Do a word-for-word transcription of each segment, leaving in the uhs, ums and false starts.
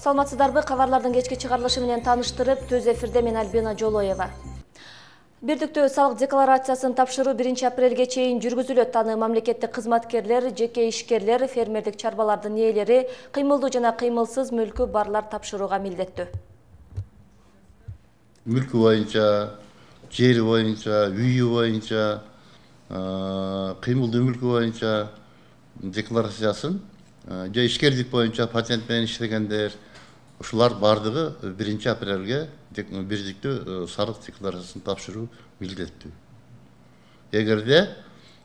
Саламатсыздарбы, кабарлардын кечки чыгарылышы менен тааныштырып, төз эфирде мен Альбина Жолоева. Бирдиктүү салык декларациясын тапшыруу биринчи апрелге чейин жүргүзүлөт. Аны мамлекеттик кызматкерлер, жеке ишкерлер, фермердик чарбалардын ээлери, кыймылдуу жана кыймылсыз мүлкү барлар тапшырууга милдеттүү. Мүлкү боюнча, жери боюнча, үйү боюнча, кыймылдуу мүлкү боюнча декларациясын, же ишкерлик боюнча патент менен иштегендер, ушулар бардыгы биринчи апрелге бирдиктүү салык декларациясын тапшыруу милдеттүү. Эгерде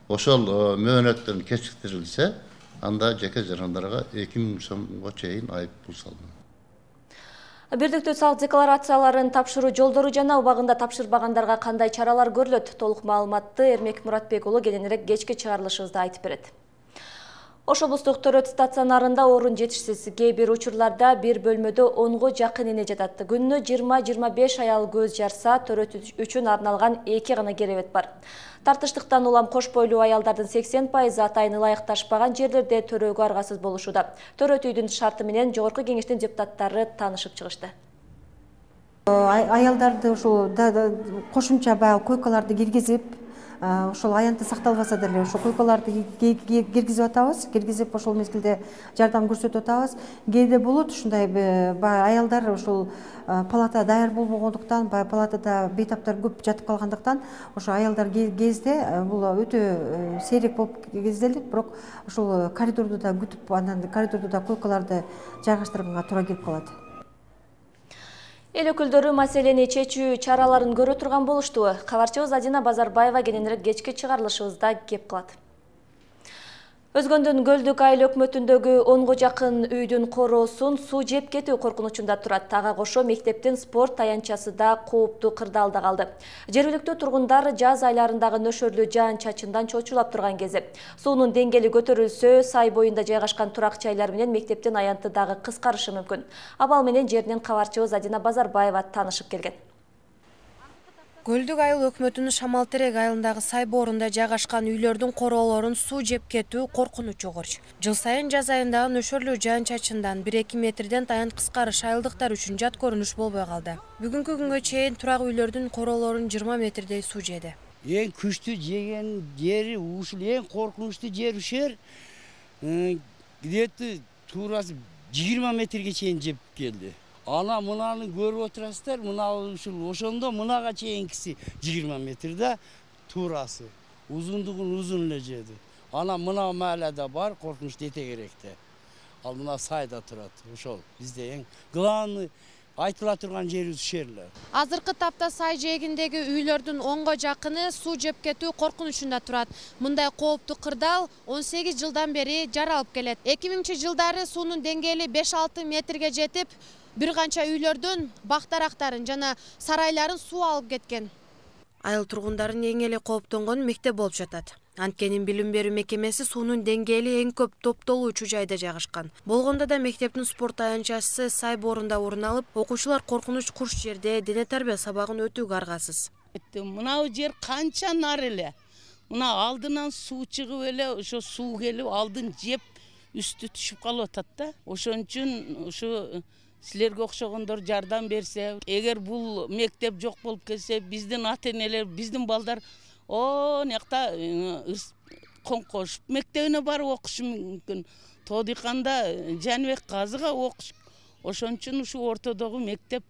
ошол мөөнөттөн кечиктирилсе, анда жеке жарандарга эки миң сомго чейин айып пул салынат. Бирдиктүү салык декларацияларын тапшыруу жолдору жана убагында тапшырбагандарга кандай чаралар көрүлөт? Толук маалыматты Эрмек Муратбек уулу кийинирээк кечки чыгарылышыбызда айтып берет. Ош облустук төрөт стационарында орун жетишсиз. Кээ бир учурларда бир бөлмөдө онго жакын эне жатат. Күнүнө жыйырма жыйырма беш аял көз жарса, төрөт үчүн арналган эки гана керебет бар. Тартыштыктан улам кош бойлуу аялдардын сексен пайызы атайын ылайыкташпаган жерлерде төрөөгө аргасыз болушууда. Төрөт үйдүн шарты менен Жогорку кеңештин депутаттары таанышып чыгышты. Аялдарды ушул кошумча баягы койкаларды киргизип, ошол аянты сакталбаса деле ошол койкаларды киргизип атабыз, киргизип ошол мезгилде жардам көрсөтүп атабыз. Кээде болот ушундай аялдар ошол палата даяр болбогондуктан, баягы палатада бейтаптар көп жатып калгандыктан, ошо аялдар кезде бул өтө сейрек болуп кезделет, бирок ошол коридордо да күтүп, анан коридордо да койкаларды жайгаштырганга туура келип калат. Эл өкүлдөрү маселени чечүү чараларын көрө турган болушту. Кабарчыбыз Адина Базарбаева кийинирээк кечки чыгарылышыбызда кеп кылат. Өзгөндүн Көлдүк айыл өкмөтүндөгү онго жакын үйдүн короосун суу жеп кетүү коркунучунда турат. Ага кошо мектептин спорт таянчасы да кооптуу кырдаалда калды. Жергиликтүү тургундар жаз айларындагы нөшөрлүү жаан-чачындан чочулап турган кези. Суунун деңгээли көтөрүлсө, сай боюнда жайгашкан турак жайлар менен мектептин аянты дагы кыскарышы мүмкүн. Абал менен жеринен кабарчыбыз Адина Базарбаева таанышып келген. Көлдүк айыл өкмөтүнүн Шамалтерек айылындагы сай боорунда жайгашкан үйлөрдүн короолорун суу жеп кетүү коркунучу корч. Жыл сайын жаз айындагы нөшөрлүү жаан-чачындан бир эки метрден таян кыскарыш айылдыктар үчүн жат көрүнүш болбой калды. Бүгүнкү күнгө чейин турак үйлөрдүн короолорун жыйырма метрдей суу жеди. Эң күчтүү жеген жери ушул, эң коркунучтуу жер ушер. Где-то туурасы жыйырма метрге чейин жеп келди. Ана мынаны көрүп отурасыздар, мына ушул ошондо мынага чейинкиси жыйырма метрде туурасы. Узундугун узун эле жеди. Ана мына маалада бар, коркунучтуу этегеректе. Ал мына сайда турат. Ошол бизде эң главный айтыла турган жерибиз ушер эле. Азыркы тапта сай жээгиндеги үйлөрдүн онго жакыны суу жеп кетүү коркунучунда турат. Мындай кооптуу кырдаал он сегиз жылдан бери жаралып келет. эки миңинчи жылдары суунун деңгээли беш алты метрге жетип, бир канча үйлөрдүн бактарактарын жана сарайларын суу алып кеткен. Айыл тургундарын эң эле кооптонгон мектеп болуп жатат. Анткени билим берүү мекемеси суунун деңгээли эң көп топтолуучу жайда жайгашкан. Болгондо да мектептин спорт таянчасы сай боорунда орун алып, окуучулар коркунуч курч жерде дене тарбия сабагын өтүүгө аргасыз. Мына жер канча нары эле. Мына алдынан суу чыгып эле, ошо суу келип алдын жеп үстү түшүп калып атат да. Ошон үчүн ушу силерге окшогондор жардам берсе, эгер бул мектеп жок болуп кетсе, биздин ата-энелер, биздин балдар о некта Коңкош мектебине барып окушу мүмкүн. Тоодыйканда Жаныбек Казыга окуш. Ошон үчүн ушу ортодогу мектеп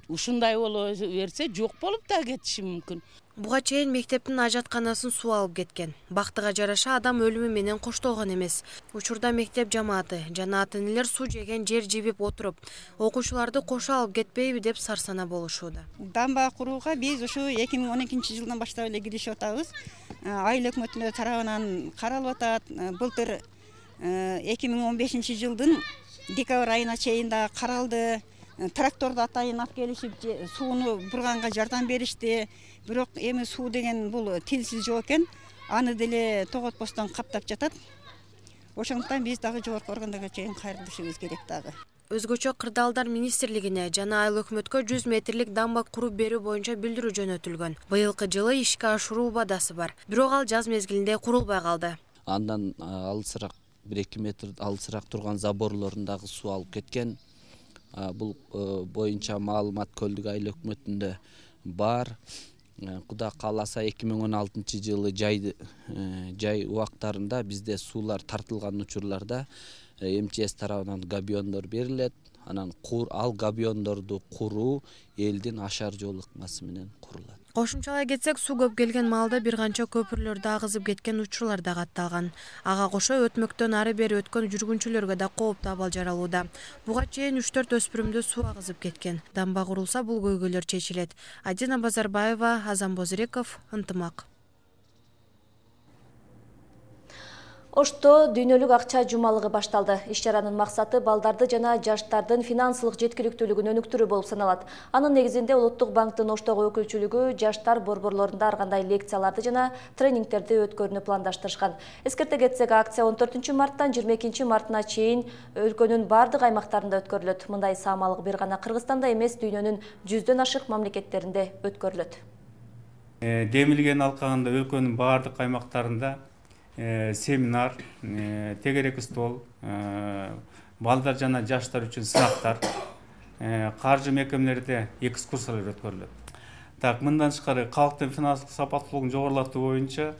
ушундай боло берсе, жок болуп да кетиши мүмкүн. Буга чейин мектептин ажатканасын суу алып кеткен. Бактыга жараша адам өлүмү менен коштолгон эмес. Учурда мектеп жамааты жана ата-энелер суу жеген жер жибип отуруп, окуучуларды кошо алып кетпейби деп сарсана болушууда. Дамба курууга биз ушу эки миң он экинчи жылдан баштап эле киришип атабыз. Айыл өкмөтүнүн тарабынан каралып атат. Былтыр эки миң он бешинчи жылдын декабрь айына чейин да каралды. Тракторду атайын алып келишип сууну бурганга жардам беришти. Бирок эми суу деген бул тилсиз жок экен. Аны деле тоготпостон каптап жатат. Ошондуктан биз дагы жогорку органдарга чейин кайрылышыбыз керек дагы. Өзгөчө кырдаалдар министрлигине жана айыл өкмөткө жүз метрлик дамба куруп берүү боюнча билдирүү жөнөтүлгөн. Быйылкы жылы ишке ашыруу убадасы бар. Бирок ал жаз мезгилинде курулбай калды. Андан алысыраак бир эки метр алысыраак турган заборлорун дагы суу алып кеткен. бул боюнча маалымат Көлдүк айыл өкмөтүндө бар. Кудай кааласа эки миң он алтынчы жылы жай жай убактарында бизде суулар тартылган учурларда эм че эс тарабынан габиондор берилет. Анан ал габиондорду куруу элдин ашар жол ыкмасы менен курулат. Кошумчалай кетсек, суу көп келген маалда бир канча көпүрлөрдө агызып кеткен учурлар да катталган. Ага кошо өтмөктөн ары бери өткөн жүргүнчүлөргө да кооптуу абал жаралууда. Буга чейин үч төрт өспүрүмдү суу агызып кеткен. Дамба курулса бул көйгөйлөр чечилет. Адина Базарбаева, Азам Бозреков, Ынтымак. Ошто дүйнөлүк акча жумалыгы башталды. Иш-чаранын максаты балдарды жана жаштардын финансылык жеткиликтүүлүгүн өнүктүрүү болуп саналат. Анын негизинде Улуттук банктын Оштогу өкүлчүлүгү жаштар борборлорунда ар кандай лекцияларды жана тренингтерди өткөрүүнү пландаштырышкан. Эскерте кетсек, акция он төртүнчү марттан жыйырма экинчи мартына чейин өлкөнүн бардык аймактарында өткөрүлөт. Мындай саамалык бир гана Кыргызстанда эмес, дүйнөнүн жүздөн ашык мамлекеттеринде өткөрүлөт. Демилген алкагында өлкөнүн бардык аймактарында семинар, тегерек стол, балдар жана жаштар үчүн сынактар, каржы мекемелерде экскурсиялар өткөрүлөт. Так, мындан тышкары калктын финансылык сапаттуулугун жогорулатуу боюнча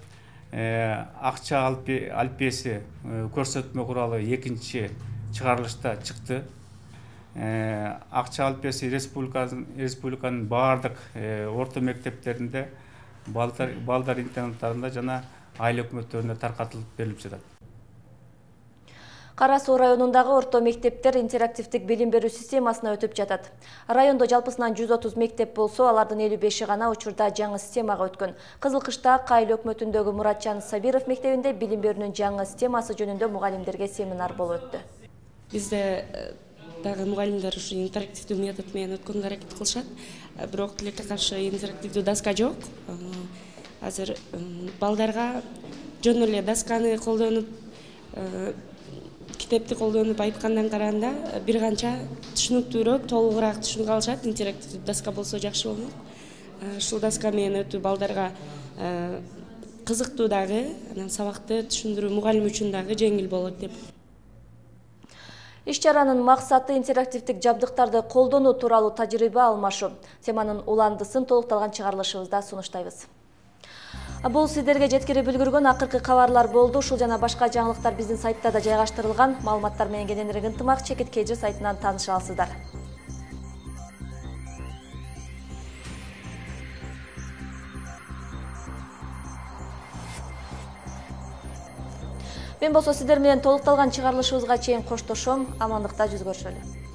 акча алпеси көрсөтмө куралы экинчи чыгарылышта чыкты. Акча алпеси республиканын бардык орто мектептеринде, балдар интернаттарында жана айыл өкмөттөрүнө таркатылып берилип жатат. Кара Суу районундагы орто мектептер интерактивдик билим берүү системасына өтүп жатат. Райондо жалпысынан жүз отуз мектеп болсо, алардын элүү беши гана учурда жаңы системага өткөн. Кызыл Кышта айыл өкмөтүндөгү Муратжан Сабиров мектебинде билим берүүнүн жаңы системасы жөнүндө мугалимдерге семинар болуп өттү. Бизде дагы мугалимдер ушу интерактивдүү метод менен өткөнгө аракет кылышат. Бирок тилекке каршы интерактивдүү доска жок. Азыр балдарга жөн эле досканы колдонуп, китепти колдонуп айткандан караганда бир канча түшүнүктүүрөөк, толугураак түшүнүп алышат. Интерактивдүү доска болсо жакшы болмок. Ушул доска менен өтүү балдарга кызыктуу дагы, анан сабакты түшүндүрүү мугалим үчүн дагы жеңил болот деп. Иш-чаранын максаты интерактивдик жабдыктарды колдонуу тууралуу тажрыйба алмашуу. Теманын уландысын толукталган чыгарылышыбызда сунуштайбыз. Бул сиздерге жеткирип үлгүргөн акыркы кабарлар болду. Ушул жана башка жаңылыктар биздин сайтта да жайгаштырылган. Маалыматтар менен кененирээк Ынтымак Чекит Кежи сайтынан тааныша аласыздар. Мен болсо сиздер менен толукталган чыгарылышыбызга чейин коштошом. Амандыкта жүз көрүшөлү.